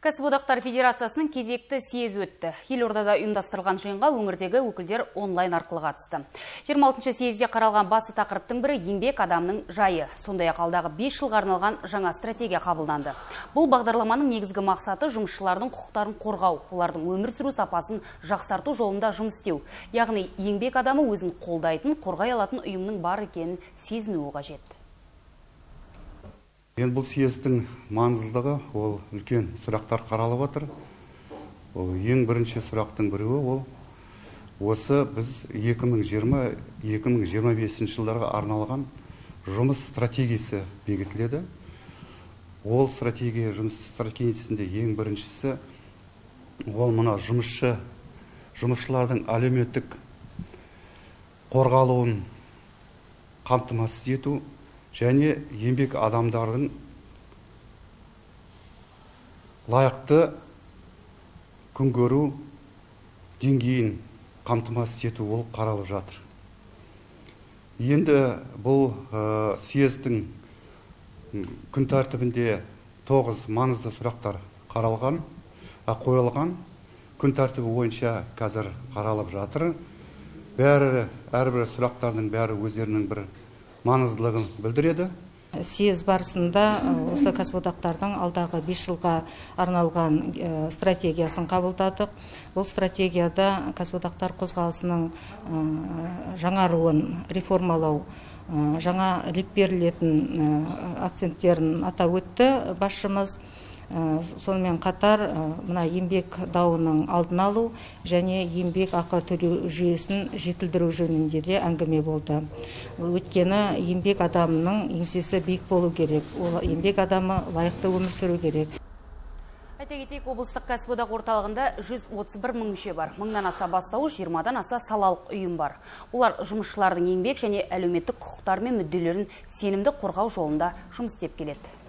Кәсіподақтар Федерациясының кезекті съезі өтті. Елордада ұйымдастырылған жиынға өңірдегі өкілдер онлайн арқылы қатысты. 26-шы съезде қаралған басты тақырыптың бірі еңбек адамның жайы. Сондай-ақ алдағы 5 жылға арналған жаңа стратегия қабылданды. Бұл бағдарламаның негізгі мақсаты жұмысшылардың құқықтарын қорғау, олардың өмір сүру сапасын жақсарту жолында жұмыс істеу. Яғни еңбек адамы өзін қолдайтын, қорғай алатын ұйымның бар екенін сезінуі қажет. Енді бұл съездің маңыздылығы ол үлкен сұрақтар қаралып отыр. Ең бірінші сұрақтың біреуі ол осы біз 2020-2025 жылдарға арналған жұмыс стратегиясы бекітіледі. Ол жұмыс стратегиясында ең біріншісі ол мына жұмысшылардың әлеуметтік қорғалуын қамтамасыз ету және еңбек адамдардың лайықты күн көру деңгейін қамтамасыз ету ол қаралып жатыр. Енді бұл съездің күн тәртібінде 9 маңызды сұрақтар қойылған. Күн тәртібі бойынша қазір қаралып жатыр. Әрбір сұрақтардың бәрі өздерінің бір маңыздылығын білдіреді. Съез барысында осы кәсіподақтардың алдағы 5 жылға арналған стратегиясын қабылдадық. Бұл стратегияда кәсіподақтар қозғалысының жаңаруын реформалау, жаңа леп берілетін акценттерін атап өтті басшымыз. Сонымен қатар мына еңбек дауының алдын алу және еңбек ақы төлеу жүйесін жетілдіру жөнінде де әңгіме болды. Өйткені еңбек адамының еңсесі биік болу керек, ол еңбек адамы лайықты өмір сүру керек. Айта кетейік, облыстық кәсіподақ орталығында 131 мың мүше бар. 1000-нан аса бастауыш, 20-дан аса салалық ұйым бар. Олар жұмысшылардың еңбек және әлеуметтік құқықтары мен мүдделерін сенімді қорғау жолында жұмыс істеп келеді.